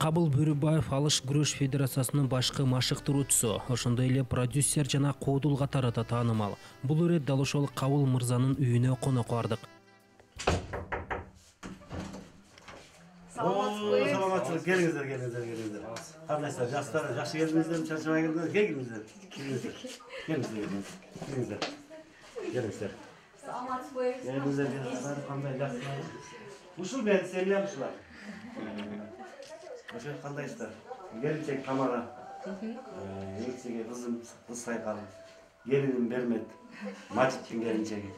Кабыл Бөрүбаев Алыш күрөш федерациясынын башкы машыктыруучусу, ошондой эле продюсер жана коодул катары да таанымал. Бул ирет дал ошол Кабыл мырзанын үйүнө конок бардык. Саламатчылык, келиңиздер. Кандайсыздар, жаштар, жакшы келдиңиздерби, чарчабай келдиңиздерби? Келиңиздер. Саламатсызбы? Кандай жакшы? Ушул мен семьям ушулар. Ошо кандайсыздар? Келинчек Тамара. Экчеге кызым Кыз Сайкал. Келиним Бермет. Мачиттин келинчеги.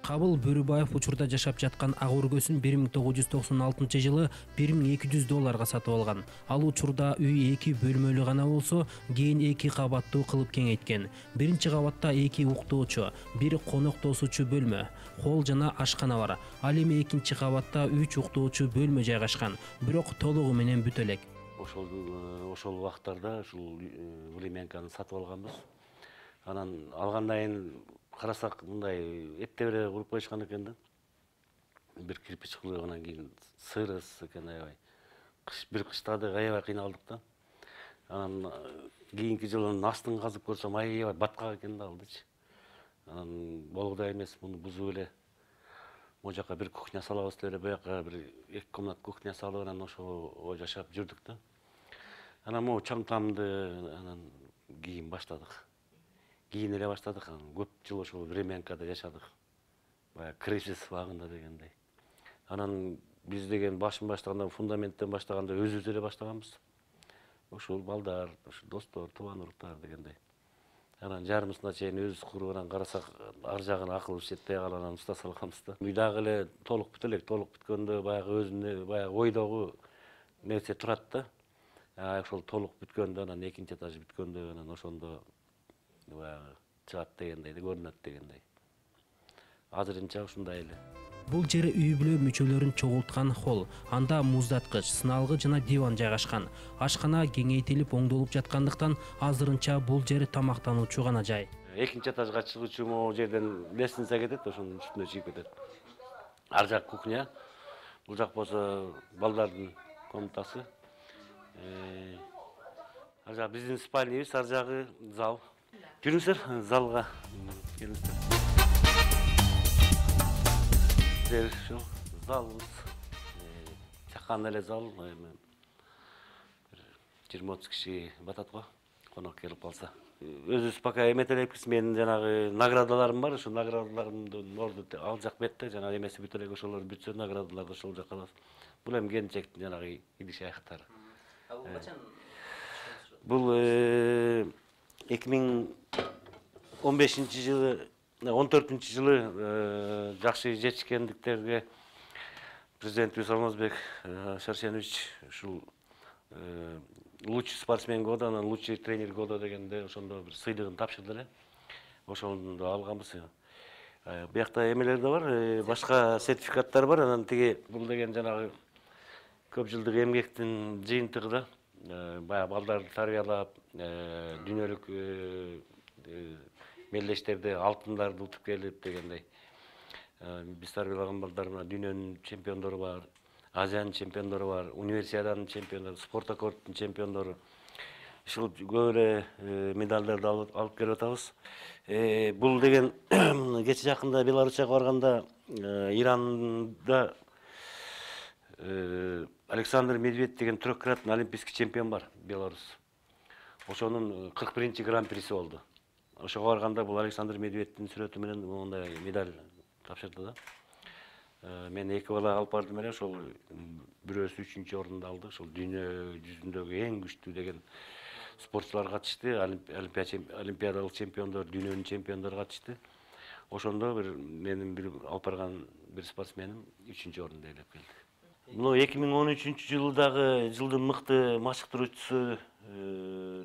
Кабыл Бөрүбаев учурда жашап жаткан ак өргөсүн 1996 жылы $1200 сатып алган. Ал учурда үй 2 бөлмөлүү гана болсо, кийин 2 кабаттуу кылып кеңейткен. Биринчи кабатта 2 уктоочу, 1 конок тосуучу бөлмө, холл жана ашкана бар. Ал эми экинчи кабатта 3 уктоочу бөлмө жайгашкан, бирок толугу менен бүт элек. Ошол убактарда ушул Времянканы сатып алганбыз. Анан алгандан кийин карасак мындай эптебеле куруп коюшкан экен да. Бир кирпич кылып анан кийин сырыс экен аябай. Бир кыштады аябай кыйналдык да. Анан кийинки жылы астын казып көрсөм аябай баткак экен да алдычы. Анан болгудай эмес, муну бузуп эле могу жака бир кухня салабыз деп эле буяка бир 2 комнат кухня салып анан ошого жашап жүрдүк да. Анан могу чаң тамды анан кийин баштадык. Кийин эле баштадык, көп жыл ошол Времянкада жашадык. Баягы кризис убагында дегендей. Анан биз деген баштаганда фундаменттен баштаганда өзүбүз эле баштаганбыз. Ошол балдар, ошол достор, тубан уруктар дегендей. Анан жарымысына чейин өзүбүз куруп анан карасак ар жагын акылыбыз жетпей калып анан уста салганбыз да. Үй дагы эле толук бүт элек, толук бүткөндө баягы өзүнө баягы ойдогу нерсе турат да. Ошол толук бүткөндө анан экинчи этажы бүткөндө анан ошондо баягы чыгат дегендей, көрүнөт дегендей. Азырынча ушундай эле. Бул жери үй бүлө мүчөлөрүн чогулткан холл. Анда муздаткыч, сыналгы жана диван жайгашкан. Ашкана кеңейтилип оңдолуп жаткандыктан азырынча бул жери тамактануучу гана жай. Экинчи этажга чыгуучу могу жерден лестница кетет, ошонун үстүнө чыгып кетет. Ар жак кухня. Бул жак болсо балдардын комнатасы. Ар жак биздин спальнябыз, ар жагы зал. Жүрүңүздөр залга келиңиздер. Ушул залыбыз. Чакан эле зал. 20-30 киши батат го, конок келип калса. Өзүбүз пока эметелеппиз. Менин жанагы наградаларым бар, ошол наградаларымдын орду ал жак бетте, жана эмеси бүт элек ошолор бүтсө наградаларды ошол жака алабыз. Бул эми келинчектин жанагы идиш аяктары. Бул качан? Бул 2015-жылы, 14-жылы жакшы жетишкендиктерге президентибиз Алмазбек Шаршенович ушул лучший спортсмен года, анан лучший тренер года дегенде ошондо бир сыйлыгын тапшырды эле. Ошондо алганбыз. Буякта эмелер да бар, башка сертификаттар бар. Анан тиги бул деген жанагы көп жылдык эмгектин жыйынтыгы да. Баягы балдарды тарбиялап, дүйнөлүк мелдештерди, алтындарды утуп келип дегендей. Биз тарбиялаган балдар мына дүйнөнүн чемпиондору бар, Азиянын чемпиондору бар, универсиаданын чемпиондору, спорт аккордтун чемпиондору. Ушул көп эле медалдарды алып келип атабыз. Бул деген кече жакында Беларусияга барганда Иранда Александр Медведев деген трехкратный олимпийский чемпион бар, Беларусь. Ошонун 41-чи гран-приси болду. Ошого барганда бул Александр Медведевдин сүрөтү менен мондай медаль тапшырды да. Мен 2 бала алып бардым эле, ошол бирөөсү 3-чү орунду алды. Ошол дүйнө жүзүндөгү эң күчтүү деген спортчулар катышты, олимпиадалык чемпиондор, дүйнөнүн чемпиондору катышты. Ошондо менин бир алып барган бир спортсменим 3-чү орунду ээлеп келди. Мына 2013-жылдагы жылдын мыкты машыктыруучусу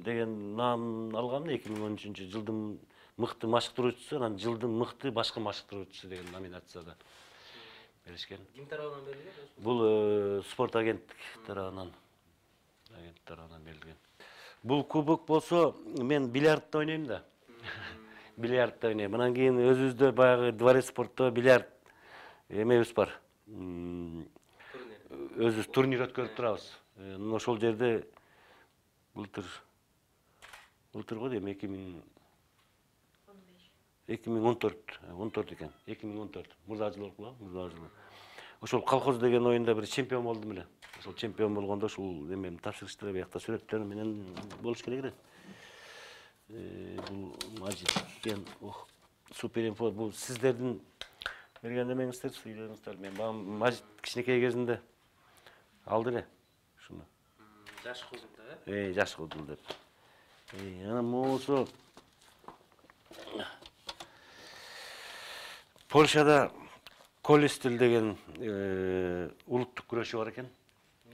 деген наам алгам. 2013-жылдын мыкты машыктыруучусу, анан жылдын мыкты башкы машыктыруучусу деген номинацияда беришкен. Ким тарабынан берилген? Бул спорт агенттик тарабынан берилген. Бул кубок болсо, мен бильярдта ойнойм да. Бильярдта ойнойм. Анан кийин өзүбүздө баягы дворец спортто бильярд эмебиз бар. өзүбүз турнир өткөрүп турабыз. Ошол жерде былтыр го дейм 2014 экен. 2014 мурда жыл болуп калган, Ошол колхоз деген оюнда бир чемпион болдум эле. Ошол чемпион болгондо ушул эмем тапшырыштар биякта сүрөттөр менен болуш керек эле. Бул Мажит экен. Суперинфо бул сиздердин берген эмеңиздер, сүйлөрүңүздөр. Мен Мажит кичинекей кезинде алды эле ушуну. Жаш кудулда, Жаш кудул деп. Анан болсо Польшада Колестил деген улуттук күрөшүү бар экен.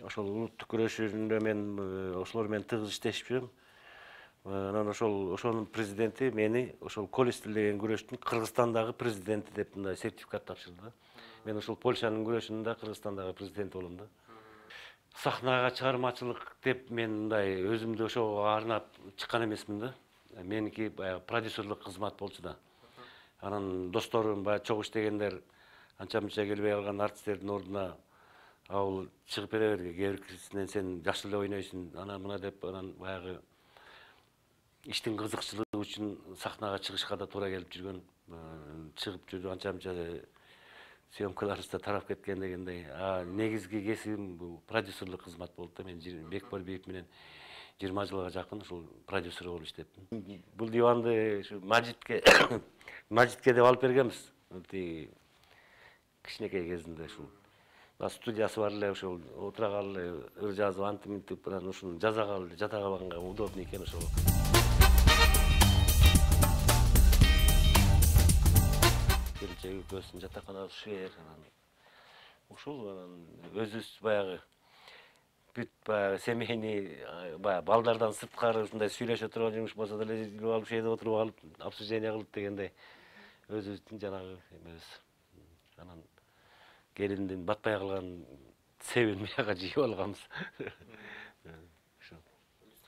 Ошол улуттук күрөшүүндө мен ошолор менен тыгыз иштешип жүрөм. Анан ошонун президенти мени ошол Колестил деген күрөштүн Кыргызстандагы президенти деп мындай сертификат тапшырды. Мен ошол Польшанын күрөшүнүн Кыргызстандагы президенти болом да. Сахнага чыгармачылык деп мен мындай өзүмдү ошого арнап чыккан эмесмин да. Меники баягы продюсерлык кызмат болчу да. Анан досторум баягы чогуу иштегендер анча-мынча келбей калган артисттердин ордуна ал чыгып бере берди. Кээ бирисинен сен жакшы эле ойнойсуң, ана мына деп анан баягы иштин кызыкчылыгы үчүн сахнага чыгышка да туура келип жүргөн. Чыгып жүрүп анча-мынча съемкаларыбыз да тарап кеткен дегендей. Негизги кесибим бул продюсерлык кызмат болду да. Мен Бекболбиев менен 20 жылга жакын ушул продюсер болуп иштептим. Бул диванды ушу Мажитке деп алып бергенбиз. Кичинекей кезинде ушул студиясы бар эле, ошол отурагалы эле ыр жазып антип мынтип анан ушуну жасагалы жата калганга удобный экен ошол. Келечеги көзсүн жатаканабыз шер анан ушул анан өзүбүз баягы бүт баягы семейный баягы балдардан сырткары ушундай сүйлөшө турган жумуш болсо деле илип алып шеде отуруп алып обсуждение кылып дегендей өзүбүздүн жанагы эмебиз. Анан келиндин батпай калган себин бияка жыйып алганбыз.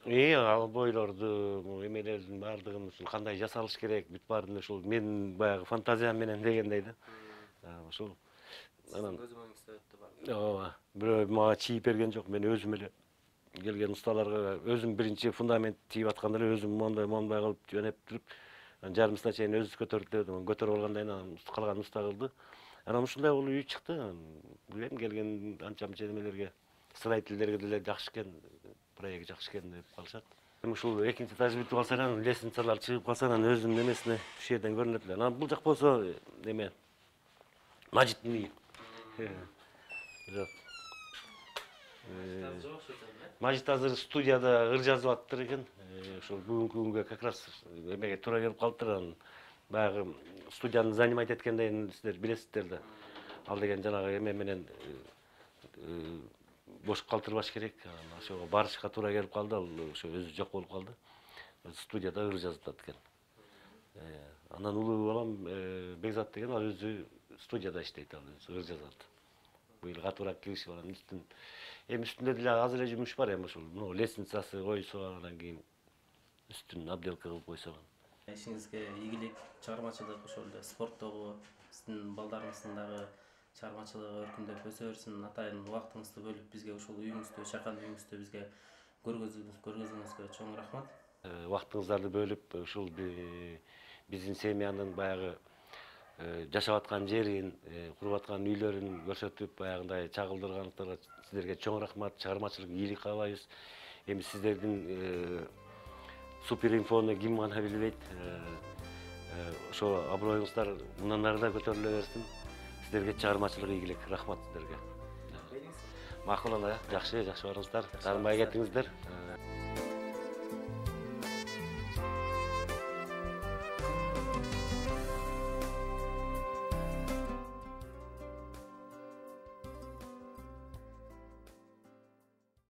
Ал бойлорду, эмелердин баардыгын ушул кандай жасалыш керек, бүт баарын ушул менин баягы фантазиям менен дегендей да. Ошол анан ооба, бирөө мага чийип берген жок, мен өзүм эле келген усталарга өзүм биринчи фундамент тийип атканда эле өзүм мондай кылып жөнөп туруп, жарымысына чейин өзүбүз көтөрдүк дебедим. Көтөрүп алгандан кийин анан калган уста кылды. Анан ушундай болуп үй чыкты. Билем келген анча-мынча немелерге, строительдерге деле жакшы экен, проект жакшы экен деп калышат. Ушул экинчи этаж бүтүп калса анан лестницалар чыгып калса анан өзүнүн эмесине ушул жерден көрүнөт эле. Анан бул жак болсо эме Мажиттин үйү. Жок. Мажит азыр студияда ыр жазып аттыр экен. Ошол бүгүнкү күнгө как раз эмеге туура келип калыптыр. Анан баягы студияны занимать эткенден сиздер билесиздер да. Ал деген жанагы эме менен бош калтырбаш керек. Ошого барышка туура келип калды. Ал ошо өзү жок болуп калды. Студияда ыр жазып атат экен. Анан улуу балам Бекзат деген ал өзү студияда иштейт, ал өзү ыр жазат. Быйыл катуураак киришип анан үстүндө деле аз эле жумуш бар, эми ушул лестницасы койсо анан кийин үстүн обделка кылып койсо. Ишиңизге ийгилик, чыгармачылык, ошол эле спорттогу сиздин балдарыңыздын дагы чыгармачылыгы өркүндөп өсө берсин. Атайын убактыңызды бөлүп бизге ушул үйүңүздү, чакан үйүңүздү бизге көргөзгөнүңүзгө чоң рахмат. Убактыңыздарды бөлүп ушул биздин семьянын баягы жашап аткан жерин, куруп аткан үйлөрүн көрсөтүп, баягындай чагылдырганыңыздарга сиздерге чоң рахмат. Чыгармачылык ийгилик каалайбыз. Эми сиздердин Суперинфону ким гана билбейт. Ошо аброюңуздар мындан ары да көтөрүлө берсин. Сиздерге чыгармачылык ийгилик. Рахмат сиздерге. Макул ана, жакшы барыңыздар. Таарынбай кетиңиздер.